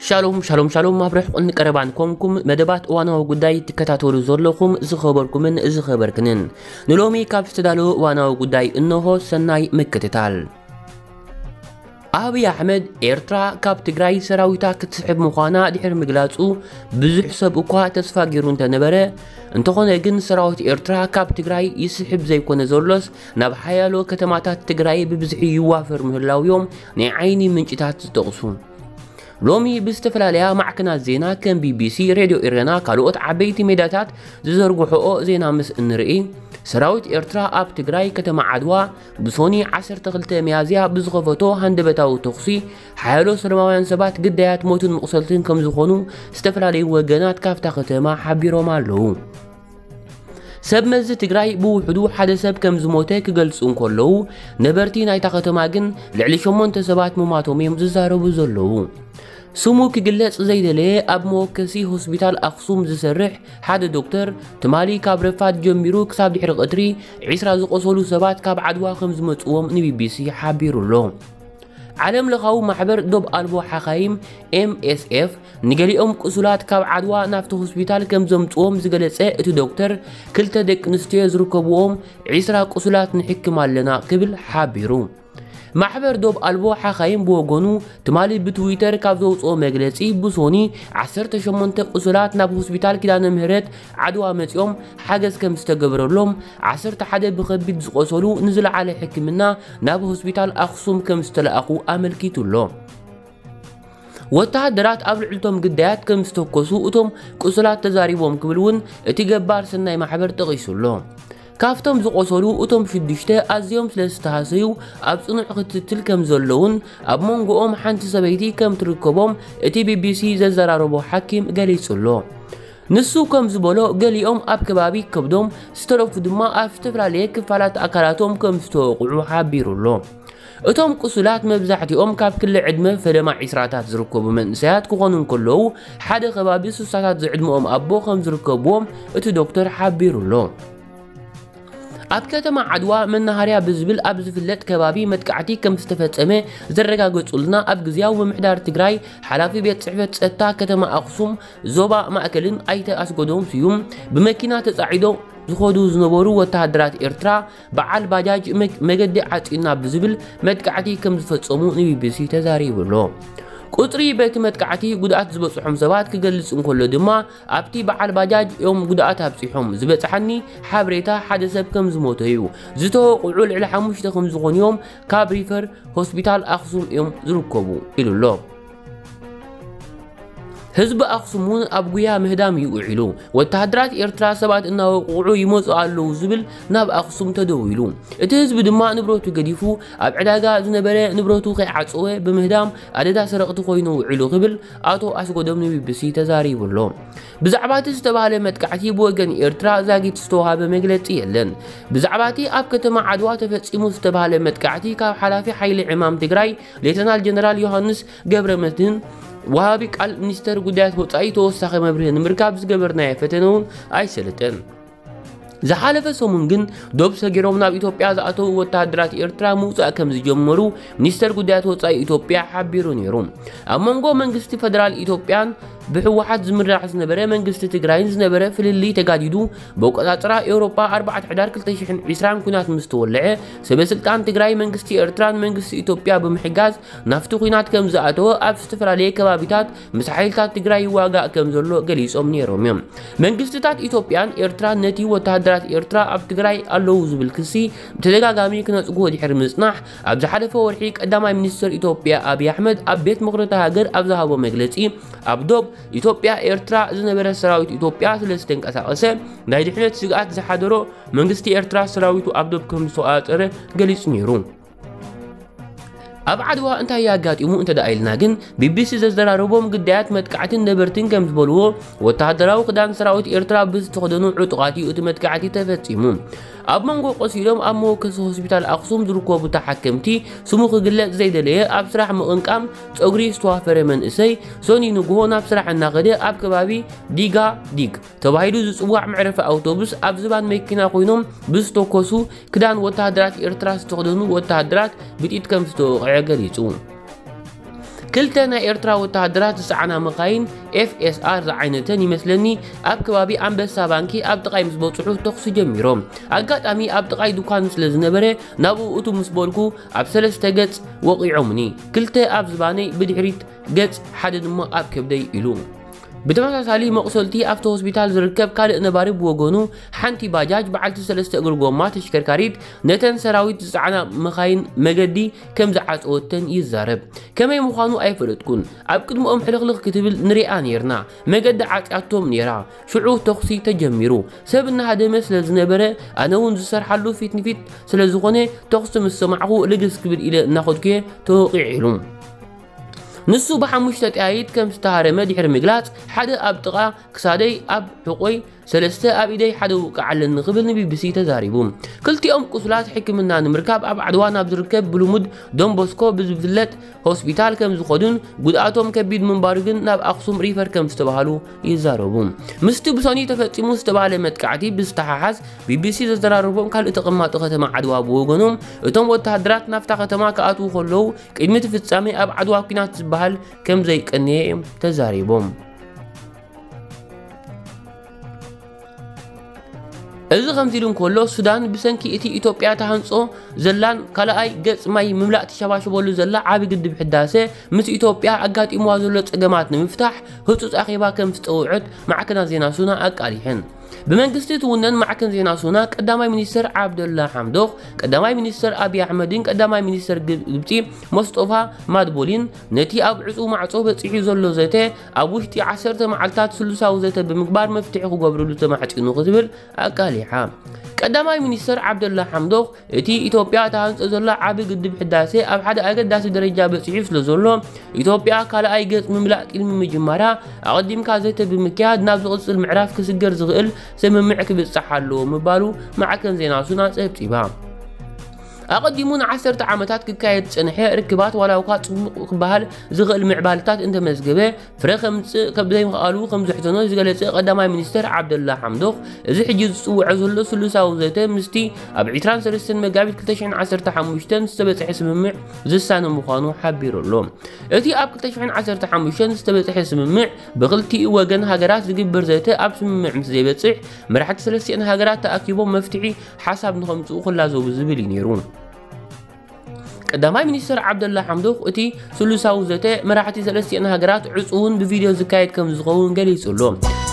ሻሎም ሻሎም ሻሎም፣ ኣብ ርሕቁን ቀረባን ኮንኩም መደባት እዋናዊ ጉዳይ ትከታተሉ ዘለኹም ዝኸበርኩምን ዝኸበርክንን፣ ንሎሚ ካብ ዝተዳለወ እዋናዊ ጉዳይ እነሆ። ሰናይ ምክትታል። ኣብይ ኣሕመድ ኤርትራ ካብ ትግራይ ሰራዊታ ክትስሕብ ምዃና ድሕሪ ምግላጹ፣ ብዙሕ ሰብ እኳ ተስፋ ገይሩ እንተነበረ፣ እንተኾነ ግን ሰራዊት ኤርትራ ካብ ትግራይ ይስሕብ ዘይኮነ ዘሎስ፣ ናብ ሓያሎ ከተማታት ትግራይ ብብዝሒ ይዋፈር ምህላውዮም ናይ ዓይኒ ምንጭታት ዝጠቕሱ። ሎሚ ብዝተፈላለያ ማዕከናት ዜና ከም ቢቢሲ፣ ሬድዮ ኤረና ካልኦት ዓበይቲ ሜዳታት ዝዘርግሕኦ ዜና ምስ እንርኢ፣ ሰራዊት ኤርትራ ኣብ ትግራይ ከተማ ዓድዋ ብሶኒ ዓሰርተ ክልተ ሚያዝያ ብዝኸፈቶ ሃንደበታዊ ተኹሲ ሓያሎ ሰላማውያን ሰባት ግዳያት ሞትን መቑሰልትን ከም ዝኾኑ ዝተፈላለዩ ወገናት ካብታ ከተማ ሓቢሮም ኣለዉ። ሰብ መዚ ትግራይ ብውሕዱ ሓደ ሰብ ከም ዝሞተ ክገልጹ እንከለዉ፣ ነበርቲ ናይታ ከተማ ግን ልዕሊ ሸሞንተ ሰባት ምማቶም እዮም ዝዛረቡ ዘለዉ። ስሙ ክግለጽ ዘይደለየ ኣብ መወከሲ ሆስፒታል ኣኽሱም ዝሰርሕ ሓደ ዶክተር፣ ትማሊ ካብ ረፋድ ጀሚሩ ክሳብ ድሕሪ ቀትሪ ዒስራ ዝቆሰሉ ሰባት ካብ ዓድዋ ከም ዝመጽዎም ንቢቢሲ ሓቢሩ ኣሎ። ዓለም ለኻዊ ማሕበር ዶብ ኣልቦ ሓኻይም፣ ኤምኤስኤፍ፣ ንገሊኦም ቁሱላት ካብ ዓድዋ ናብቲ ሆስፒታል ከም ዘምጽዎም ዝገለጸ እቲ ዶክተር፣ ክልተ ደቂ ኣንስትዮ ዝርከብዎም ዒስራ ቁሱላት ንሕክም ኣለና ክብል ሓቢሩ። ማሕበር ዶብ ኣልቦ ሓኻይም ብወገኑ፣ ትማሊ ብትዊተር ካብ ዘውጽኦ መግለጺ፣ ብሶኒ ዓሰርተ ሸሞንተ ቁሱላት ናብ ሆስፒታል ኪዳነ ምህረት ዓድዋ መጺኦም ሓገዝ ከም ዝተገበረሎም፣ ዓሰርተ ሓደ ብኸቢድ ዝቆሰሉ ንዝለዓለ ሕክምና ናብ ሆስፒታል ኣኽሱም ከም ዝተለኣኹ ኣመልኪቱ ኣሎ። ወተሃደራት ኣብ ልዕልቶም ግዳያት ከም ዝተኮሱ እቶም ቁሱላት ተዛሪቦም ክብል እውን እቲ ገባር ሰናይ ማሕበር ጠቒሱ ኣሎ። ካብቶም ዝቆሰሉ እቶም ሽዱሽተ ኣዝዮም ስለ ዝተሃሰዩ ኣብ ጽኑዕ ክትትል ከም ዘለውን ኣብ መንጎኦም ሓንቲ ሰበይቲ ከም ትርከቦም እቲ ቢቢሲ ዘዘራረቦ ሓኪም ገሊጹ ኣሎ። ንሱ ከም ዝበሎ፣ ገሊኦም ኣብ ከባቢ ከብዶም፣ ዝተረፉ ድማ ኣብ ዝተፈላለየ ክፋላት ኣካላቶም ከም ዝተወቕዑ ሓቢሩ ኣሎ። እቶም ቁሱላት መብዛሕትኦም ካብ ክሊ ዕድመ ፈለማ ዒስራታት ዝርከቡ መንእሰያት ክኾኑ እንከለዉ፣ ሓደ ከባቢ ሱሳታት ዝዕድመኦም ኣቦ ከም ዝርከብዎም እቲ ዶክተር ሓቢሩ ኣሎ። ኣብ ከተማ ዓድዋ መናሃርያ ብዝብል ኣብ ዝፍለጥ ከባቢ መጥቃዕቲ ከም ዝተፈጸመ ዘረጋገጹልና ኣብ ግዝያዊ ምምሕዳር ትግራይ ሓላፊ ቤት ጽሕፈት ጸጥታ ከተማ ኣኽሱም ዞባ ማእከልን ኣይተ ኣስገዶም ስዩም፣ ብመኪና ተጻዒዶም ዝኸዱ ዝነበሩ ወተሃደራት ኤርትራ በዓል ባጃጅ መግ-፣ መገዲ ዓጺና ብዝብል መጥቃዕቲ ከም ዝፈጸሙ ንቢቢሲ ተዛሪቡ ኣሎ። ቁጽሪ በቲ መጥቃዕቲ ጉድኣት ዝበጽሖም ሰባት ክገልጽ እንከሎ ድማ፣ ኣብቲ በዓል ባጃጅ እዮም ጉድኣት ኣብጺሖም፣ ዝበጽሓኒ ሓበሬታ ሓደ ሰብ ከም ዝሞተ እዩ። ዝተወቕዑ ልዕሊ ሓሙሽተ ከም ዝኾኑ እዮም ካብ ሪፈር ሆስፒታል ኣኽሱም እዮም ዝርከቡ ኢሉ ኣሎ። ህዝቢ ኣኽሱም እውን ኣብ ጉያ ምህዳም እዩ ውዒሉ። ወተሃደራት ኤርትራ ሰባት እናወቕዑ ይመጹ ኣለዉ ዝብል ናብ ኣኽሱም ተደዊሉ። እቲ ህዝቢ ድማ ንብረቱ ገዲፉ ኣብ ዕዳጋ ዝነበረ ንብረቱ ከይዓጸወ ብምህዳም ኣደዳ ሰረቕቲ ኮይኑ ውዒሉ ክብል ኣቶ ኣስጎዶም ንቢቢሲ ተዛሪቡ ኣሎ። ብዛዕባ እቲ ዝተባህለ መጥቃዕቲ ብወገን ኤርትራ ዛጊት ዝተዋሃበ መግለጺ የለን። ብዛዕባ እቲ ኣብ ከተማ ዓድዋ ተፈጺሙ ዝተባህለ መጥቃዕቲ ካብ ሓላፊ ሓይሊ ዕማም ትግራይ ሌተናል ጀነራል ዮሃንስ ገብረመድህን ወሃቢ ቃል ሚኒስተር ጉዳያት ወጻኢ ተወሳኺ መብርሂ ንምርካብ ዝገበርናዮ ፈተነ እውን ኣይሰለጠን። ዝሓለፈ ሰሙን ግን ዶብ ሰጊሮም ናብ ኢትዮጵያ ዝኣተዉ ወተሃደራት ኤርትራ ምውጻእ ከም ዝጀመሩ ሚኒስተር ጉዳያት ወጻኢ ኢትዮጵያ ሓቢሩ ነይሩ። ኣብ መንጎ መንግስቲ ፈደራል ኢትዮጵያን ብህወሓት ዝምራሕ ዝነበረ መንግስቲ ትግራይን ዝነበረ ፍልልይ ተጋዲዱ፣ ብኣቆጻጽራ ኤውሮጳ ኣርባዕተ ሕዳር ክልተ ሽሕን ዕስራን ኲናት ምስ ተወልዐ፣ ሰበ ስልጣን ትግራይ መንግስቲ ኤርትራን መንግስቲ ኢትዮጵያ ብምሕጋዝ ናብቲ ኲናት ከም ዝኣተወ ኣብ ዝተፈላለየ ከባቢታት ምስ ሓይልታት ትግራይ ይዋጋእ ከም ዘሎ ገሊጾም ነይሮም እዮም። መንግስትታት ኢትዮጵያን ኤርትራን ነቲ ወተሃደራት ኤርትራ ኣብ ትግራይ ኣለዉ ዝብል ክሲ ብተደጋጋሚ ክነጽግዎ ድሕሪ ምጽናሕ፣ ኣብ ዝሓለፈ ወርሒ ቀዳማይ ሚኒስትር ኢትዮጵያ ኣብይ ኣሕመድ ኣብ ቤት ምኽሪ እታ ሃገር ኣብ ዝሃቦ መግለጺ፣ ኣብ ዶብ ኢትዮጵያ ኤርትራ ዝነበረ ሰራዊት ኢትዮጵያ ስለ ዝተንቀሳቐሰ ናይ ድሕነት ስግኣት ዝሓደሮ መንግስቲ ኤርትራ ሰራዊቱ ኣብ ዶብ ከም ዝተቖጻጸረ ገሊጹ ነይሩ። ኣብ ዓድዋ እንታይ ኣጋጢሙ እንተ ደኣ ኢልና ግን፣ ቢቢሲ ዘዘራረቦም ግዳያት መጥቃዕትን ነበርትን ከም ዝበልዎ፣ ወተሃደራዊ ክዳን ሰራዊት ኤርትራ ብዝተኸደኑ ዕጡቓት እዩ እቲ መጥቃዕቲ ተፈጺሙ። ኣብ መንጎ ቆሲሎም ኣብ መወከሲ ሆስፒታል ኣኽሱም ዝርከቡ ተሓከምቲ፣ ስሙ ክግለጽ ዘይደለየ ኣብ ስራሕ ምቕንቃም ጸጉሪ ዝተዋፈረ መንእሰይ፣ ሶኒ ንግሆ ናብ ስራሕ እናኸደ ኣብ ከባቢ ዲጋ ዲግ ተባሂሉ ዝጽዋዕ መዕረፊ ኣውቶቡስ ኣብ ዝባን መኪና ኮይኖም ብዝተኮሱ ክዳን ወተሃደራት ኤርትራ ዝተኸደኑ ወተሃደራት ብጥይት ከም ዝተወቕዐ ገሊጹ። ክልተ ናይ ኤርትራ ወተሃደራት ዝጸዓና መኻይን ኤፍ ኤስ ኣር ዝዓይነተን ይመስለኒ ኣብ ከባቢ ኣንበሳ ባንኪ ኣብ ጥቓይ ምስ በጽሑ ተኹሲ ጀሚሮም። ኣጋጣሚ ኣብ ጥቓይ ድኳን ስለ ዝነበረ ናብኡ እቱ ምስ በልኩ ኣብ ሰለስተ ገጽ ወቒዖምኒ። ክልተ ኣብ ዝባነይ ብድሕሪት ገጽ፣ ሓደ ድማ ኣብ ከብደይ ኢሉ። ብተመሳሳሊ መቑሰልቲ ኣብቲ ሆስፒታል ዝርከብ ካልእ ነባሪ ብወገኑ ሓንቲ ባጃጅ በዓልቲ ሰለስተ እግሪ ጎማ ተሽከርካሪት ነተን ሰራዊት ዝጸዓና መኻይን መገዲ ከም ዝዓጸወተን ይዛረብ። ከመይ ምዃኑ ኣይፈለጥኩን። ኣብ ቅድሚኦም ሕልኽልኽ ክትብል ንሪኣ ነይርና። መገዲ ዓጽያቶም ነይራ። ሽዑ ተኹሲ ተጀሚሩ። ሰብ እናሃደመ ስለ ዝነበረ ኣነ እውን ዝሰርሓሉ ፊት ንፊት ስለ ዝኾነ ተኹሲ ምስ ሰማዕኹ ልግስ ክብል ኢለ እናኸድኩ እየ ተወቒዐ ኢሉ። ንሱ ብሓሙሽተ ጠያይት ከም ዝተሃረመ ድሕሪ ምግላጽ ሓደ ኣብ ጥቓ ክሳደይ ኣብ ሕቖይ ሰለስተ ኣብ ኢደይ ሓደ ውቃዕ ኣለኒ ክብል ንቢቢሲ ተዛሪቡ። ክልቲኦም ቁስላት ሕክምና ንምርካብ ኣብ ዓድዋ ናብ ዝርከብ ብልሙድ ዶንቦስኮ ብዝፍለጥ ሆስፒታል ከም ዝኸዱን ጉድኣቶም ከቢድ ምንባሩ ግን ናብ ኣኽሱም ሪፈር ከም ዝተባሃሉ ይዛረቡ። ምስቲ ብሰኒ ተፈጺሙ ዝተባሃለ መጥቃዕቲ ብዝተሓሓዝ ቢቢሲ ዘዘራረቦም ካልእ ተቐማጢ ከተማ ዓድዋ ብወገኖም እቶም ወተሃደራት ናብታ ከተማ ክኣትዉ ከለዉ ቅድሚ እቲ ፍጻሜ ኣብ ዓድዋ ኲናት ዝበሃል ከም ዘይቀነየ እዮም ተዛሪቦም። እዚ ከምዚ ኢሉ እንከሎ ሱዳን ብሰንኪ እቲ ኢትዮጵያ ተሃንጾ ዘላን ካልኣይ ገጽ ማይ ምምላእ ትሸባሸበሉ ዘላ ዓቢ ግድብ ሕዳሰ ምስ ኢትዮጵያ ኣጋጢምዋ ዘሎ ጸገማት ንምፍታሕ ህጹጽ ኣኼባ ከም ዝጸውዐት ማዕከናት ዜና ሱና ኣቃሊሐን። ብመንግስቲ ትውነን ማዕከን ዜና ሱና ቀዳማይ ሚኒስትር ዓብደላ ሓምዶኽ፣ ቀዳማይ ሚኒስትር ኣብይ ኣሕመድን ቀዳማይ ሚኒስትር ግብጺ ሞስጦፋ ማድቦሊን ነቲ ኣብ ዕጹው ማዕጾ በጺሑ ዘሎ ዘተ ኣብ ውሽጢ ዓሰርተ መዓልታት ስሉሳዊ ዘተ ብምግባር መፍትሒ ክገብርሉ ተማሕጺኑ ክትብል ኣቃሊሓ። ቀዳማይ ሚኒስትር ዓብደላ ሓምዶኽ እቲ ኢትዮጵያ ተሃንጾ ዘሎ ዓቢ ግድብ ሕዳሴ ኣብ ሓደ ኣገዳሲ ደረጃ በጺሑ ስለ ዘሎ ኢትዮጵያ ካልኣይ ገጽ ምምላእ ቅድሚ ምጅማራ ኣቐዲምካ ዘተ ብምክያድ ናብ ዝቕጽል ምዕራፍ ክስገር ዝኽእል ስምምዕ ክብጻሕ ኣለዎ ምባሉ ማዕከን ዜና ሱና ጸብጺባ። ኣቐዲሙ ንዓሰርተ ዓመታት ክካየድ ዝጸንሐ ርክባት ዋላ እኳ ጽቡቕ ክበሃል ዝኽእል ምዕባልታት እንተመዝገበ ፍረ ከምጽእ ከም ዘይምኽኣሉ ከም ዘሕዘኖ ዝገለጸ ቀዳማይ ሚኒስትር ዓብደላ ሓምዶኽ እዚ ሕጂ ዝጽውዖ ዘሎ ስሉሳዊ ዘተ ምስቲ ኣብ ዕስራን ሰለስተን መጋቢት ክልተ ሽሕን ዓሰርተ ሓሙሽተን ዝተበጽሐ ስምምዕ ዝሳነ ምዃኑ ሓቢሩ ኣሎ። እቲ ኣብ ክልተ ሽሕን ዓሰርተ ሓሙሽተን ዝተበጽሐ ስምምዕ ብክልቲኡ ወገን ሃገራት ዝግበር ዘተ ኣብ ስምምዕ ምስ ዘይበጽሕ መራሕቲ ሰለስቲኣን ሃገራት ተኣኪቦም መፍትሒ ሓሳብ ንኸምጽኡ ክላዘቡ ዝብል እዩ ነይሩ። ቀዳማይ ሚኒስትር ዓብደላ ሓምዶኽ እቲ ስሉሳዊ ዘተ መራሕቲ ሰለስቲኣን ሃገራት ዕጹውን ብቪድዮ ዝካየድ ከም ዝኸውን ገሊጹ ኣሎ።